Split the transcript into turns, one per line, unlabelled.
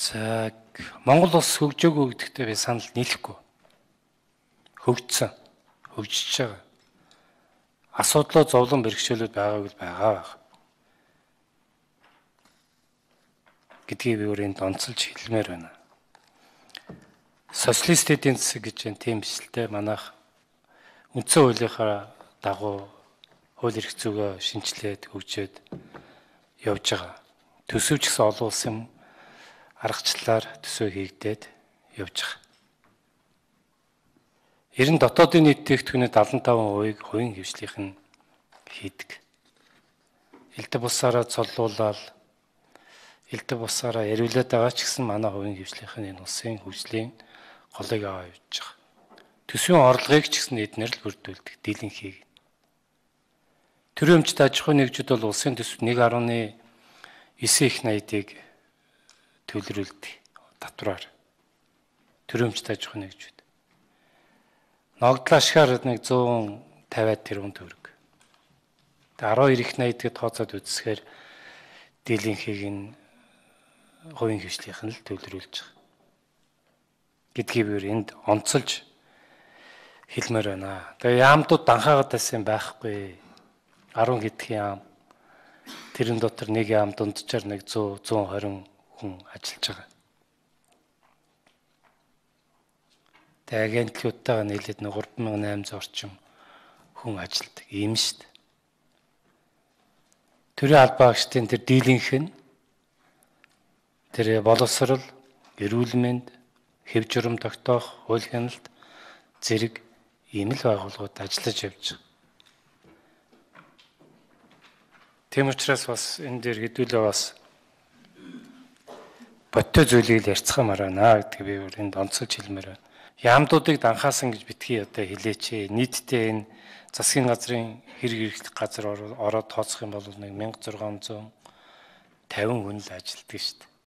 За Монгол улс хөгжөөгөө гэдэгтээ би санал нийлэхгүй. Хөгжсөн, хөгжиж байгаа. Асуудлаа зовлон бэрхшээлүүд байгааг л байгаа. Гэдгийг би өөрөнд онцолж хэлмээр байна. Социалист эдийн засаг гэж энэ тийм бичлэлтэй манайх үндсэн хуулийнхаа дагуу хууль эрх зүйгөө шинжилээд хөгжөөд явж байгаа. Төсөвч гэсэн олон улсын аргачлалаар төсөө хийгдээд явж байгаа. Ер нь дотоодын нийт тээгдэхүүний 75%-ийг хувийн хвшлийнх нь хийдэг. Элдв бусаараа цоллуулаад элдв бусаараа яриулаад байгаа ч гэсэн манай хувийн хвшлийнх нь энэ улсын хөгжлийн голыг аваа явж байгаа. Төсвийн орлогыг ч гэсэн эднэр л бүрдүүлдэг, дийлэнхийг. Төрийн өмчт аж ахуйн нэгжүүд бол улсын төсөв 1.9 их 80-ыг төлрүүлдэг татвараар. Төрийн өмчт аж ахуйн нэгжүүд. Ногдлоо ашгаар нэг 150 тэрбум төгрөг. Тэгээ 12 их 80-д тооцоод үзсээр дийлэнхийг нь хувийн хвшлийнх нь л төлрүүлж байгаа. Гэдгийг би энд онцолж хэлмээр байна. Тэгээ яамдууд данхаагаад байсан байхгүй. 10 гэдгийн яам. Тэрэн дотор нэг яам дунджаар нэг 100 120 хүн ажиллаж байгаа. Тэгээ агентлуудтайгаа нийлээд 3800 орчим хүн ажилладаг. Ийм шүү дээ. Төрийн албаагчдын тэр дийлэнх нь тэр боловсрол, эрүүл мэнд, хэв журам тогтоох, хууль хяналт зэрэг ийм л байгууллагууд ажиллаж явж байгаа. Тийм учраас бас энэ дээр хэдүүлээ бас боттой зүйлийг ярьцгаамаар байна гэдгийг би энд онцолж хэлмээр байна. Яамдуудыг данхаасан гэж битгий одоо хэлээч. Нийтдээ энэ засгийн газрын хэрэг газар ороод тооцох юм бол 1650 хүн л ажилладаг шүү дээ.